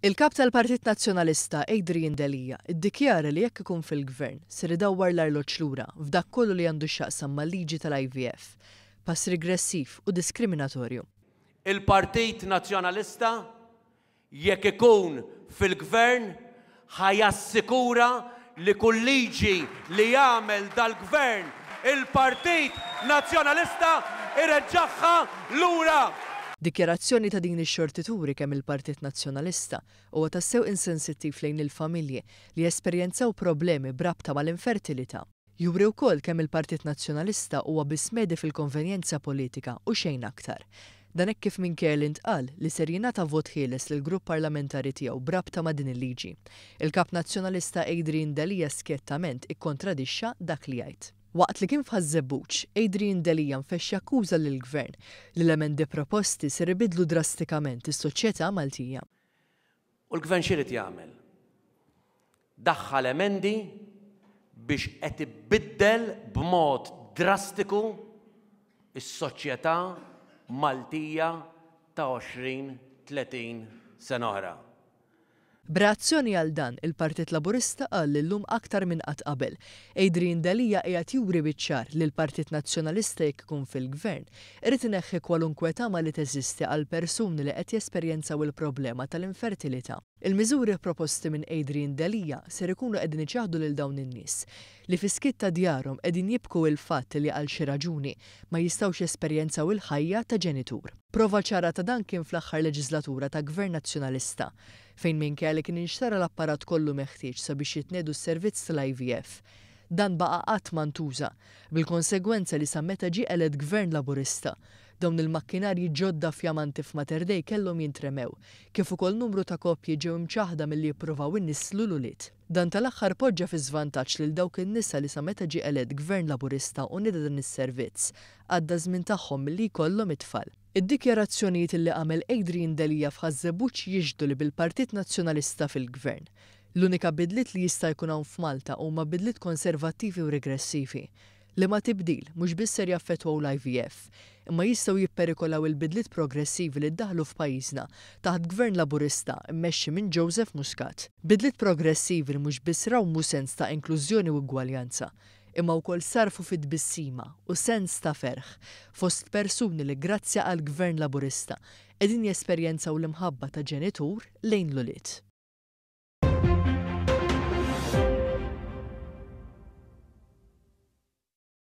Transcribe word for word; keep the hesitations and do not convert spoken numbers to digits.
Il-Kap tal-Partit Nazzjonalista Adrian Delia iddikjara li jekk ikun fil-Gvern ser idawwar l-arloġġ lura f'dak kollu li għandu x'jaqsam mal-liġi tal-I V F, pass regressiv u diskriminatorju. Il-Partit Nazzjonalista, jekk ikun fil-Gvern, ħa jassikura li kull liġi li jagħmel dal-Gvern, il-Partit Nazzjonalista ireġġagħha lura. Dikjarazzjoni ta' din ix-xorti turi kemm il-Partit Nazzjonalista huwa tassew insensittiv lejn il-familji li esperjenzaw problemi b'rabta mal-infertilità. Juri wkoll kemm il-Partit Nazzjonalista huwa biss medi fil-konvenjenza politika u xejn aktar. Dan hekk kif minkejja li ntqal li ser jingħata vot ħieles lil grupp parlamentari tiegħu b'rabta ma' din il-liġi, il-Kap Nazzjonalista Adrian Delia skjettament ikkontradixxa dak li jgħid. Waqt li kien f'Ħaż-Żebbuġ, Adrian Delia nfexx jakkuża lill-Gvern li l-emendi proposti ser ibidlu drastikament is-soċjetà Maltija. U l-Gvern x'irid jagħmel? Daħħal emendi biex qed ibiddel b'mod drastiku is-soċjetà Maltija ta' għoxrin tletin sena oħra. B'reazzjoni għal dan, il-Partit Laburista qal li llum aktar minn qatt qabel, Adrian Delia qiegħed juri biċ-ċar li l-Partit Nazzjonalista, jekk ikun fil-Gvern, irid ineħħi kwalunkwe tama li teżisti għal persuni li qed jesperjenzaw il-problema tal-infertilità. Il-miżuri proposti minn Adrian Delia ser ikunu qegħdin iċaħdu lil dawn in-nies li fis-skiet ta' djarhom qegħdin jibku il-fatt li għal xi raġuni ma jistgħux jesperjenzaw il-ħajja ta' ġenitur. Prova ċara ta' dan kien fl-aħħar leġislatura ta' Gvern Nazzjonalista, fejn minkejja li kien inxtara l-apparat kollu meħtieġ sabiex jitnedu s-servizz tal-I V F, dan baqa' qatt ma ntuża, bil-konsegwenza li sa meta ġie elett Gvern Laburista, dawn il-makkinarji ġodda fjamanti f'Mater Dei kellhom jintremew, kif ukoll numru ta' koppji ġew imċaħda milli jippruvaw inisslu l-ulied. Dan tal-aħħar poġġa fi żvantaġġ lil dawk in-nisa li sa meta ġie elett Gvern Laburista u nida dan is-servizz, għadda żmien tagħhom milli jkollhom it-tfal. Id-dikjarazzjonijiet li għamel Adrian Delia f'Ħaż-Żebbuġ jixhdu li bil-Partit Nazzjonalista fil-Gvern, l-unika bidliet li jista' jkun hawn f'Malta huma bidliet konservattivi u regressivi, li ma tibdil mhux biss ser jaffettwaw l-I V F, imma jistgħu jipperikolaw il-bidliet progressivi li ddaħlu f'pajjiżna taħt Gvern Laburista mmexxi minn Joseph Muscat. Bidliet progressivi li mhux biss rawmu sens ta' inklużjoni u ugwaljanza, imma wkoll sarfu fit-tbissima u sens ta' ferħ fost persuni li grazzi għal Gvern Laburista qegħdin jesperjenzaw l-imħabba ta' ġenitur lejn l-ulied.